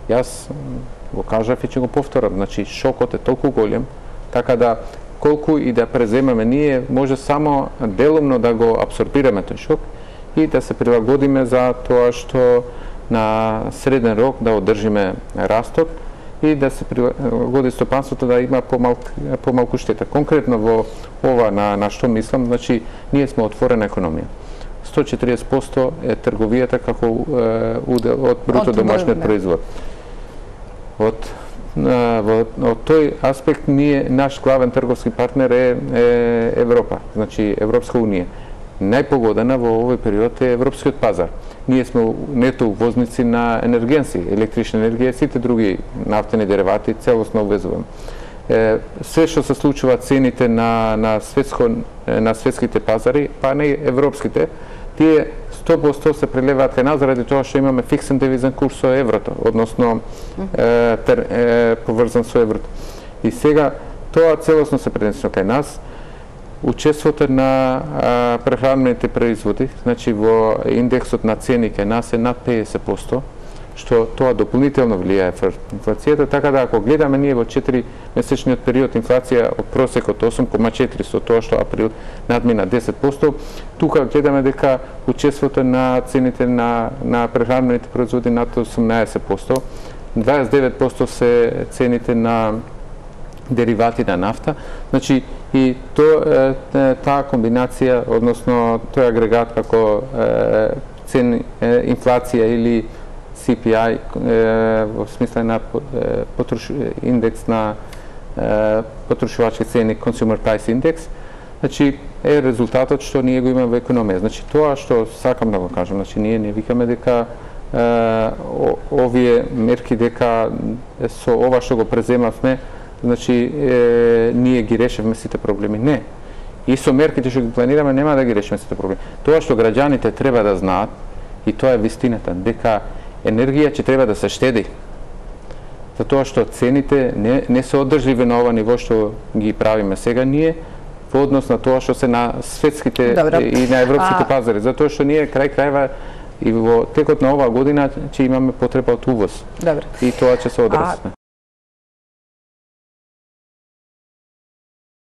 Јас го кажав и ќе го повторам, значи шокот е толку голем, така да колку и да преземаме ние, може само делумно да го абсорбираме тој шок и да се прилагодиме за тоа што на среден рок да одржиме растот и да се прилагоди стопанството да има помалку штета. Конкретно во ова на што мислам, значи ние сме отворена економија. 140% е трговијата како удел од бруто домашниот производ. Од тој аспект наш главен трговски партнер е Европа, значи Европска унија. Најпогодена во овој период е европскиот пазар. Ние сме нето увозници на енергенци, електрична енергија и сите други нафтени деривати целосно увезуваме. Се што се случува цените на светските пазари, па не европските, тие 100% се прелеваат кај нас заради тоа што имаме фиксен девизен курс со еврото, односно поврзан со еврото. И сега тоа целосно се пренесено кај нас. Учеството на прехранмените производи, значи во индексот на цени кај нас е над 50%, што тоа дополнително влијае инфлацијата, така да ако гледаме ние во 4-месечниот период инфлација од просекот 8,4 со тоа што април надмина 10%, тука гледаме дека учеството на цените на прехранмените производи над 18%, 29% се цените на деривати на нафта, значи и таа комбинација, односно тој агрегат како инфлација или CPI во смисла на индекс на потрошувачки цени, Consumer Price Index, значи е резултатот што ние го имаме во економија. Значи тоа што сакам да го кажам, значи ние не викаме дека овие мерки дека со ова што го преземавме, значи ние ги решевме сите проблеми. Не. И со мерките што ги планираме нема да ги решиме сите проблеми. Тоа што граѓаните треба да знаат, и тоа е вистината, дека енергија ќе треба да се штеди. Затоа што цените не се одржливи на ова ниво што ги правиме сега ние, во однос на тоа што се на светските и на европските пазари. Затоа што ние крај крајва и во текот на оваа година ќе имаме потреба од увоз. И тоа ќе се одрази.